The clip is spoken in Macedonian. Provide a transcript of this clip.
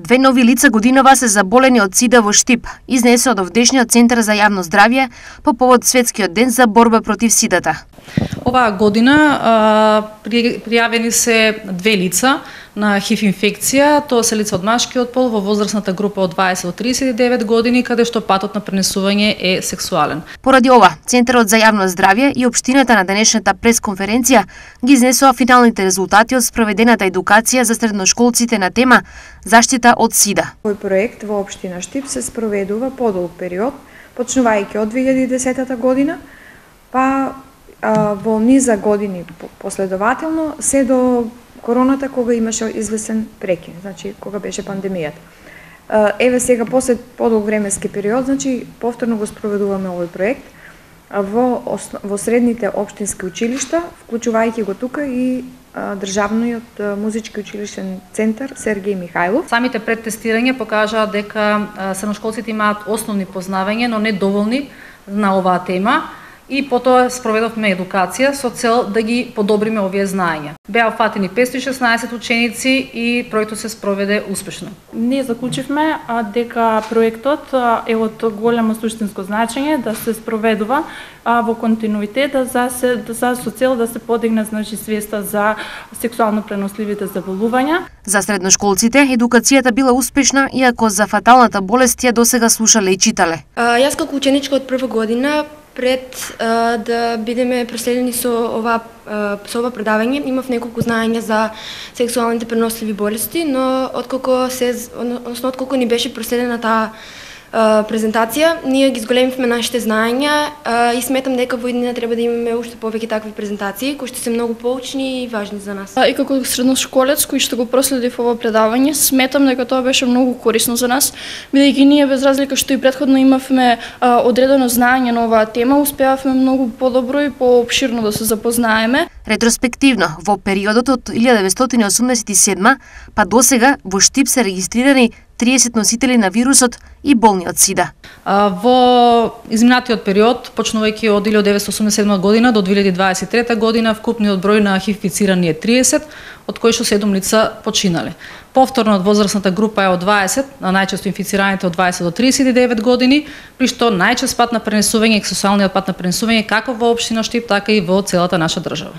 2 нови лица годинава се заболени од СИДА во Штип, изнесе од овдешниот Центар за јавно здравје по повод Светскиот ден за борба против СИДАта. Оваа година пријавени се 2 лица на ХИВ инфекција, тоа се лица од машкиот пол во возрастната група од 20 до 39 години, каде што патот на пренесување е сексуален. Поради ова, Центарот за јавно здравје и општината на денешната пресконференција ги изнесоа финалните резултати од спроведената едукација за средношколците на тема заштита од СИДА. Овој проект во општина Штип се спроведува подолг период, почнувајќи од 2010 година, па во низа години последователно се до короната, кога имаше известен прекин, значи кога беше пандемијата. Еве сега после подолг временски период, значи повторно го спроведуваме овој проект во средните општински училишта, вклучувајќи го тука и државниот музички училиштен центар Сергеј Михајлов. Самите предтестирања покажаа дека средношколците имаат основни познавања, но не доволни на оваа тема. И потоа спроведовме едукација со цел да ги подобриме овие знаења. Беа фатени 516 ученици и проектот се спроведе успешно. Ние заклучивме дека проектот е од големо суштинско значење да се спроведува во континуитет со цел да се подигне свеста за сексуално преносливите заболувања. За средношколците едукацијата била успешна, иако за фаталната болест ја досега слушале и читале. Јас како ученичка од прва година, пред да бидеме проследени со ова предавање, имав неколку знаења за сексуалните преносливи болести, но отколку ни беше проследена таа презентација, ние ги зголемивме нашите знаења и сметам дека во иднина треба да имаме уште повеќе такви презентации, кои што се многу поучни и важни за нас. И како средношколец кој што го проследив ова предавање, сметам дека тоа беше многу корисно за нас, бидејќи ние без разлика што и претходно имавме одредено знаење на оваа тема, успеавме многу подобро и поопширно да се запознаеме. Ретроспективно, во периодот од 1987 па досега во Штип се регистрирани 30 носители на вирусот и болни од СИДА. Во изминатиот период, почнувајќи од 1987 година до 2023 година, вкупниот број на ХИВ-инфицирани е 30, од кои што 7 лица починале. Повторно од возрастната група е од 20, а најчесто инфицираните од 20 до 39 години, при што најчест пат на пренесување е сексуалниот пат на пренесување како во општина Штип, така и во целата наша држава.